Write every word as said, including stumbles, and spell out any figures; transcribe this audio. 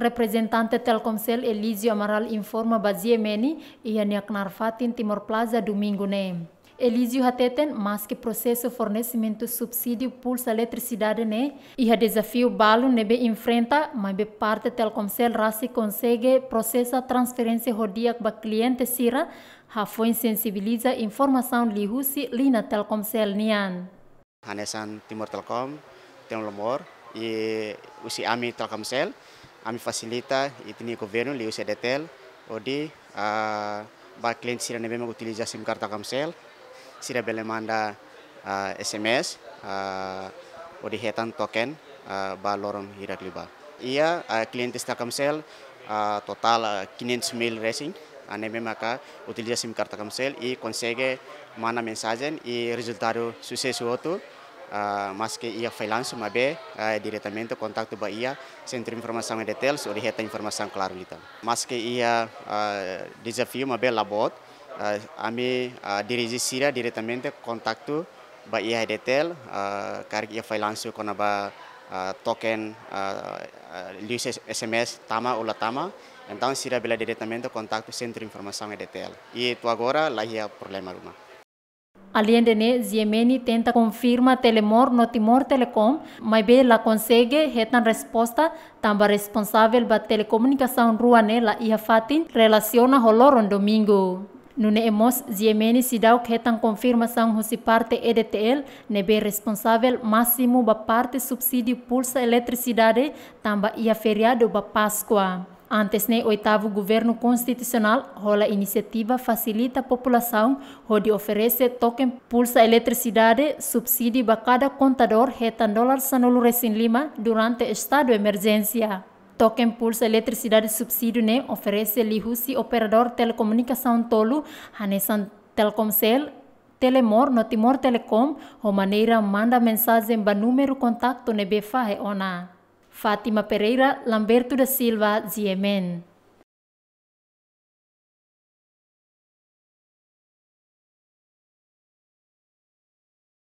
Reprezentante Telkomcel Elísio Amaral informa ba G M N iha nia knaar fatin Timor Plaza Domingu ne'e. Elísio hateten, maske prosesu fornesimentu subsídiu pulsa eletrisidade ne'e iha dezafiu balu ne'ebé enfrenta, maibé parte Telkomcel rasik konsege prosesa transferénsia ho di'ak ba kliente sira, hafoin sensibiliza informasaun liuhusi liña Telkomcel nian. Hanesan Timor Telecom, Timor Lomor, i husi ami Telkomcel, ami fasilita ita-nia governu liuhusi EDTL, hodi, ah, ba kliente sira ne'ebé mak utiliza SIM card Telkomcel, sira bele manda, ah, S M S, ah, hodi hetan token, ah, ba loron hirak liubá. Iha, ah, kliente Telkomcel, ah, totál, ah, quinhentos mil resin, ah, ne'ebé maka utiliza SIM card Telkomcel i konsege manda mensajen i rezultadu susesu hotu, ah, maske iha fallansu maibé, ah, diretamente kontaktu ba iha Sentru Informasaun EDTL, hodi hetan informasaun klaru liután. Maske iha, ah, dezafiu maibé la boot, ah, ami, ah, dirije sira diretamente kontaktu ba iha EDTL, ah, karik iha fallansu kona-ba, ah, token, ah, ah, liuhusi S M S tama ou la tama, entaun sira bele diretamente kontaktu Sentru Informasaun EDTL. I to'o agora la iha problema ruma. Aleinde ne'e, G M N tenta konfirma Telemor no Timor Telecom, maibé la konsege hetan resposta, tanba responsavel ba telekomunikasaun rua ne'e la iha fatin relasiona ho loron Domingu. Nune'e mós G M N seidauk hetan konfirmasaun husi parte EDTL, ne'ebé responsavel másimu ba parte subsídiu pulsa eletrisidade, tanba iha feriadu ba Páskua. Antes ne'e, oitavu Governu Konstitusionál hola inisiativa fasilita populasaun hodi oferese token pulsa eletrisidade subsídiu ba kada kontadór hetan dolar sanulu resin lima durante estadu emerjénsia. Token pulsa eletrisidade subsídiu ne'e oferese liuhusi operadór telekomunikasaun tolu, hanesan Telkomcel, Telemor no Timor Telecom, ho maneira manda mensajen ba númeru kontaktu ne'ebé fahe ona. Fátima Pereira, Lamberto da Silva, G M N.